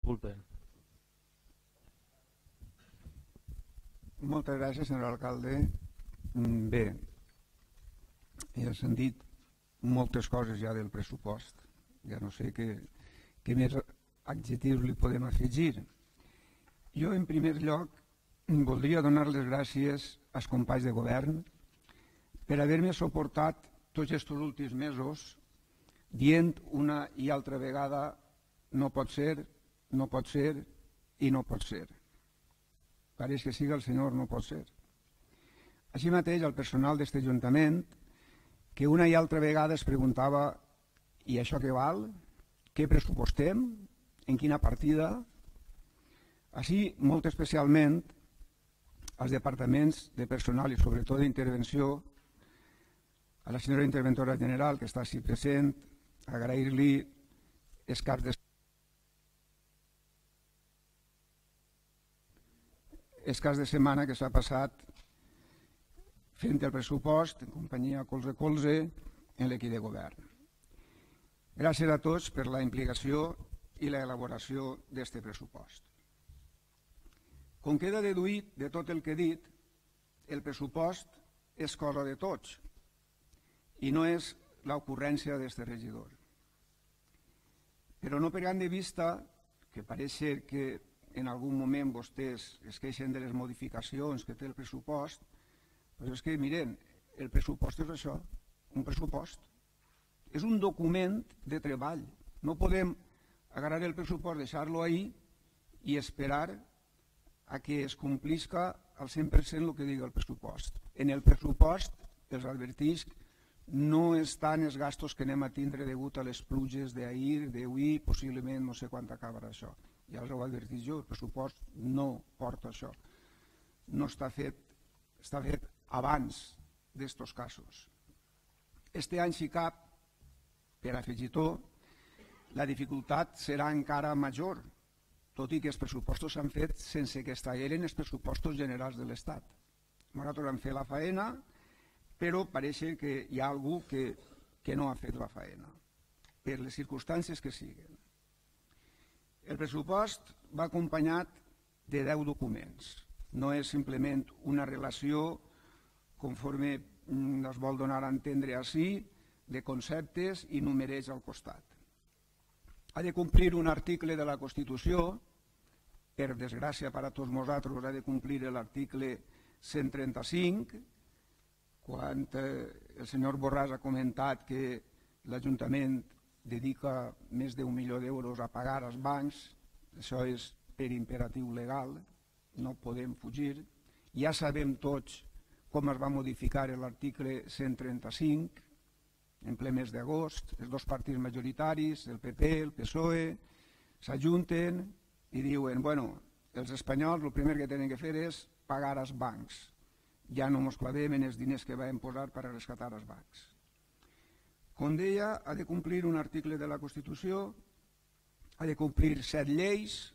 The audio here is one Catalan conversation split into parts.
disculpen. Moltes gràcies, senyor alcalde. Bé, ja s'han dit moltes coses ja del pressupost. Ja no sé què més adjectius li podem afegir. Jo, en primer lloc, voldria donar les gràcies als companys de govern per haver-me suportat tots aquests últims mesos dient una i altra vegada no pot ser, no pot ser i no pot ser. Pareix que siga el senyor no pot ser. Així mateix, el personal d'aquest ajuntament, que una i altra vegada es preguntava i això què val? Què pressupostem? En quina partida? Així, molt especialment, als departaments de personal i sobretot d'intervenció, a la senyora interventora general que està així present, agrair-li els caps de setmana que s'ha passat fent el pressupost en companyia colze a colze en l'equip de govern. Gràcies a tots per la implicació i l'elaboració d'aquest pressupost. Com queda deduït de tot el que he dit, el pressupost és cosa de tots i no és l'ocurrència d'aquest regidor. Però no perdent de vista que pareix ser que en algun moment vostès es queixen de les modificacions que té el pressupost, però és que, miren, el pressupost és això, un pressupost. És un document de treball. No podem agarrar el pressupost, deixar-lo ahí i esperar a que es complisca al 100% el que digui el pressupost. En el pressupost, els advertisc, no estan els gastos que anem a tindre degut a les pluges d'ahir, d'avui, possiblement no sé quan acabarà això. Ja els ho advertís jo, el pressupost no porta això. No està fet, està fet abans d'estos casos. Este any, si cap, per afegitó, la dificultat serà encara major, tot i que els pressupostos s'han fet sense que estaven els pressupostos generals de l'Estat. Nosaltres vam fer la faena, però pareix que hi ha algú que no ha fet la faena, per les circumstàncies que siguin. El pressupost va acompanyat de 10 documents. No és simplement una relació, conforme es vol donar a entendre així, de conceptes i numerets al costat. Ha de complir un article de la Constitució, per desgràcia per a tots nosaltres ha de complir l'article 135, quan el senyor Borràs ha comentat que l'Ajuntament dedica més d'1 milió d'euros a pagar als bancs, això és per imperatiu legal, no podem fugir. Ja sabem tots com es va modificar l'article 135 en ple mes d'agost. Els dos partits majoritaris, el PP, el PSOE, s'ajunten i diuen, bueno, els espanyols el primer que tenen que fer és pagar als bancs. Ja no ens clavem en els diners que vam posar per a rescatar els bancs. Com deia, ha de complir un article de la Constitució, ha de complir 7 lleis,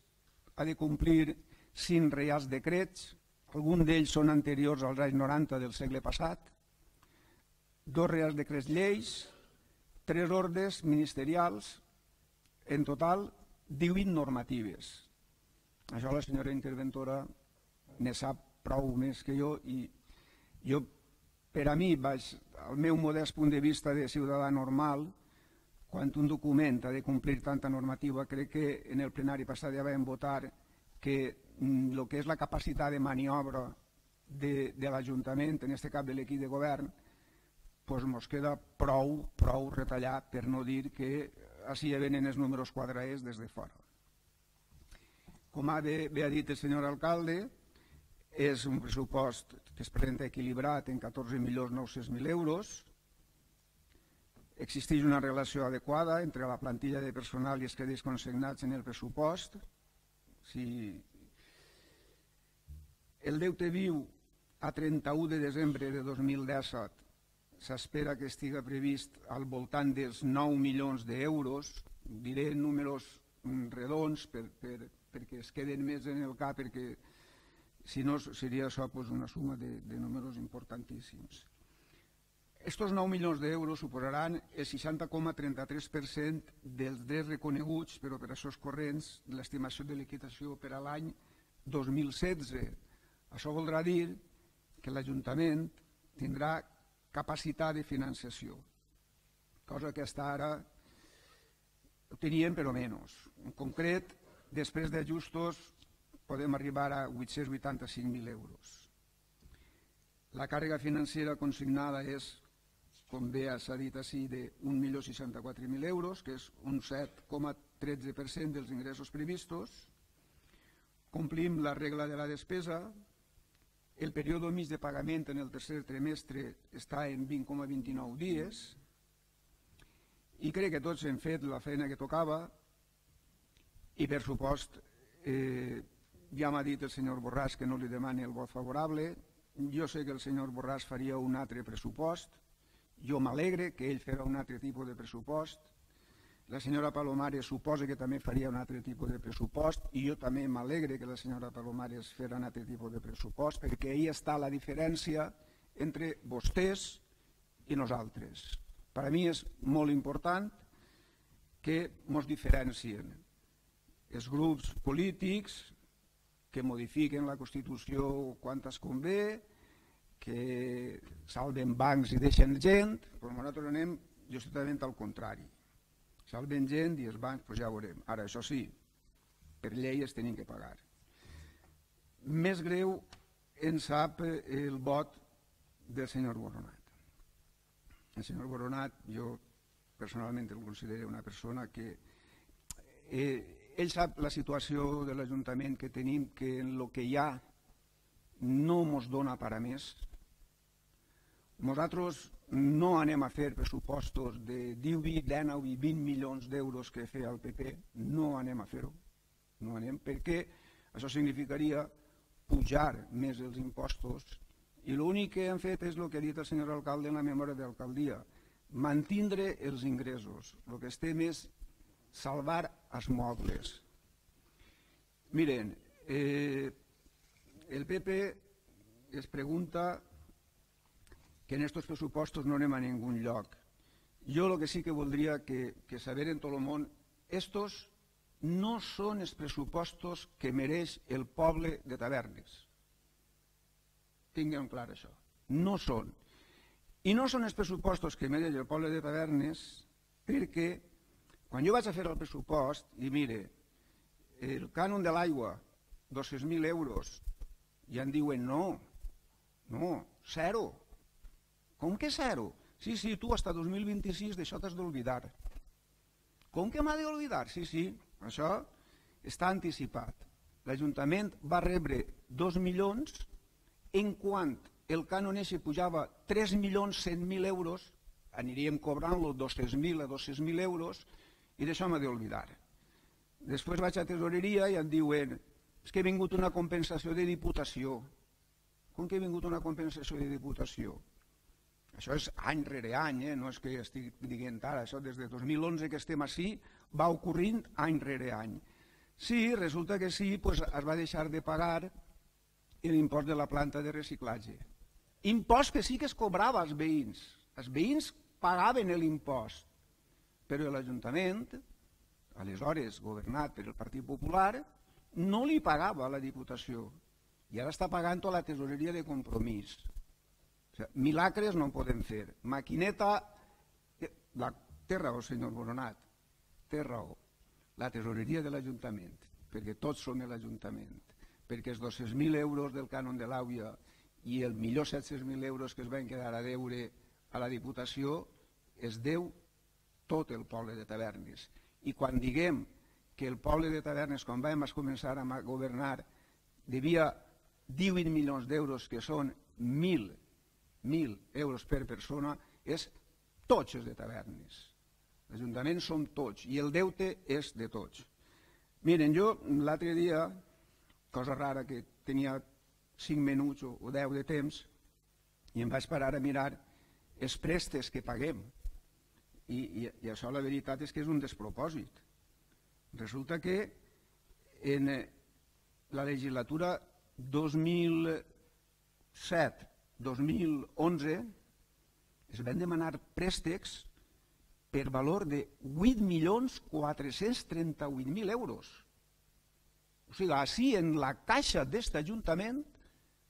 ha de complir 5 reials decrets, alguns d'ells són anteriors als anys 90 del segle passat, 2 reials decrets lleis, 3 ordres ministerials, en total 18 normatives. Això la senyora interventora ne sap prou més que jo i jo, per a mi, al meu modest punt de vista de ciutadà normal, quan un document ha de complir tanta normativa, crec que en el plenari passat ja vam votar que el que és la capacitat de maniobra de l'Ajuntament, en aquest cas de l'equip de govern, ens queda prou retallat, per no dir que així ja venen els números quadrats des de fora. Com bé ha dit el senyor alcalde, és un pressupost que es presenta equilibrat en 14.900.000 euros. Existeix una relació adequada entre la plantilla de personal i els crèdits consignats en el pressupost. El deute viu a 31 de desembre de 2017 s'espera que estigui previst al voltant dels 9 milions d'euros. Diré números redons perquè es queden més en el cap, perquè si no seria això una suma de números importantíssims. Estos 9 milions d'euros suposaran el 60,33% dels drets reconeguts per operacions corrents de l'estimació de liquidació per a l'any 2016. Això voldrà dir que l'Ajuntament tindrà capacitat de financiació, cosa que fins ara ho teníem però menys. En concret, després d'ajustos podem arribar a 885.000 euros. La càrrega financera consignada és, com bé s'ha dit així, de 1.064.000 euros, que és un 7,13% dels ingressos previstos. Complim la regla de la despesa. El període mig de pagament en el tercer trimestre està en 20,29 dies i crec que tots hem fet la feina que tocava i, per supost, ja m'ha dit el senyor Borràs que no li demani el vot favorable. Jo sé que el senyor Borràs faria un altre pressupost. Jo m'alegre que ell farà un altre tipus de pressupost. La senyora Palomares suposa que també faria un altre tipus de pressupost i jo també m'alegre que la senyora Palomares farà un altre tipus de pressupost, perquè ahí està la diferència entre vostès i nosaltres. Per a mi és molt important que ens diferencien els grups polítics que modifiquen la Constitució quan es convé, que salven bancs i deixen gent, però nosaltres anem justament al contrari. Salven gent i els bancs, doncs ja ho veurem. Ara, això sí, per llei es tenen que pagar. Més greu en sap el vot del senyor Boronat. El senyor Boronat, jo personalment el considero una persona que ell sap la situació de l'Ajuntament que tenim, que en el que hi ha no ens dona per a més. Nosaltres no anem a fer pressupostos de 18, 19 i 20 milions d'euros que feia el PP, no anem a fer-ho, no anem, perquè això significaria pujar més els impostos i l'únic que hem fet és el que ha dit el senyor alcalde en la memòria d'alcaldia, mantindre els ingressos. El que estem és salvar els mobles. Miren, el PP es pregunta que en estos pressupostos no anem a ningú lloc. Jo el que sí que voldria que saber en tot el món, estos no són els pressupostos que mereix el poble de Tavernes. Tinguem clar això. No són. I no són els pressupostos que mereix el poble de Tavernes perquè quan jo vaig a fer el pressupost, i mire, el cànon de l'aigua, 200.000 euros, i em diuen no, zero. Com que zero? Sí, tu hasta 2026 d'això t'has d'oblidar. Com que m'ha d'oblidar? Sí, això està anticipat. L'Ajuntament va rebre 2 milions, en quant el cànon eixe pujava 3.100.000 euros, aniríem cobrant-lo 200.000 a 200.000 euros, i d'això m'ha d'oblidar. Després vaig a tesoreria i em diuen és que ha vingut una compensació de diputació. Com que ha vingut una compensació de diputació? Això és any rere any, no és que estic dient ara, això des de 2011 que estem així va ocorrint any rere any. Sí, resulta que sí, es va deixar de pagar l'impost de la planta de reciclatge. Impost que sí que es cobrava als veïns. Els veïns pagaven l'impost, però l'Ajuntament, aleshores governat per el Partit Popular, no li pagava a la Diputació i ara està pagant a la tesoreria de Compromís. Milagres no en podem fer. Maquineta, té raó, senyor Boronat, té raó. La tesoreria de l'Ajuntament, perquè tots som l'Ajuntament, perquè els 200.000 euros del cànon de l'Àuia i el millor 700.000 euros que es van quedar a deure a la Diputació es deu tot el poble de Tavernes. I quan diguem que el poble de Tavernes, quan vam començar a governar, devia 18 milions d'euros, que són 1.000 euros per persona, és tots els de Tavernes. L'Ajuntament som tots i el deute és de tots. Miren, jo l'altre dia, cosa rara, que tenia 5 minuts o 10 de temps, i em vaig parar a mirar els préstecs que paguem. I això la veritat és que és un despropòsit. Resulta que en la legislatura 2007-2011 es van demanar préstecs per valor de 8.438.000 euros. O sigui, així en la caixa d'aquest ajuntament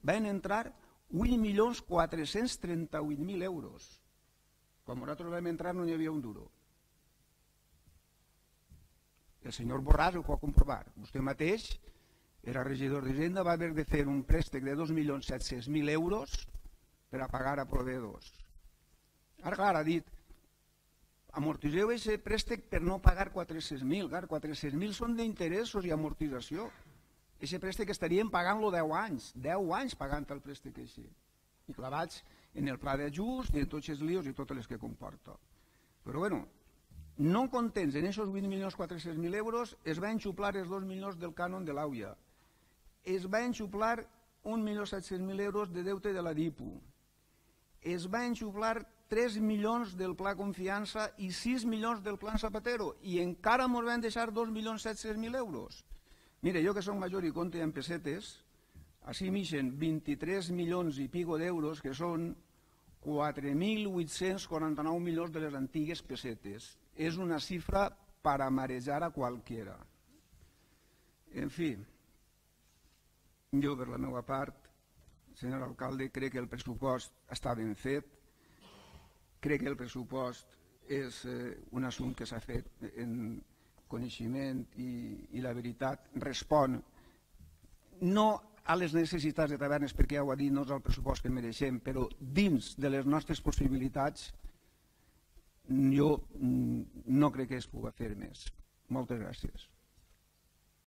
van entrar 8.438.000 euros. Quan nosaltres vam entrar no hi havia un duro. El senyor Borràs ho pot comprovar. Vostè mateix era regidor d'Hisenda, va haver de fer un préstec de 2.700.000 euros per a pagar a proveïdors. Ara, clar, ha dit, amortitzeu aquest préstec per no pagar 400.000. Clar, 400.000 són d'interessos i amortització. Aquest préstec estaríem pagant-lo 10 anys, 10 anys pagant el préstec així. I clavats en el pla d'ajust i en tots els lios i totes les que comporta. Però bueno, no contents en aquests 8.400.000 euros, es va enxuplar els 2 milions del cànon de l'AUIA. Es va enxuplar 1.700.000 euros de deute de la DIPU. Es va enxuplar 3 milions del Pla Confiança i 6 milions del Plan Zapatero i encara ens van deixar 2.700.000 euros. Mire, jo que soc major i compte en pessetes, així m'ixen 23 milions i pico d'euros, que són 4.849 milions de les antigues pessetes. És una xifra per a marejar a qualquiera. En fi, jo per la meva part, senyor alcalde, crec que el pressupost està ben fet, crec que el pressupost és un assumpte que s'ha fet en coneixement i la veritat respon no a les necessitats de Tavernes, perquè ja ho ha dit, no és el pressupost que mereixem, però dins de les nostres possibilitats jo no crec que es pugui fer més. Moltes gràcies.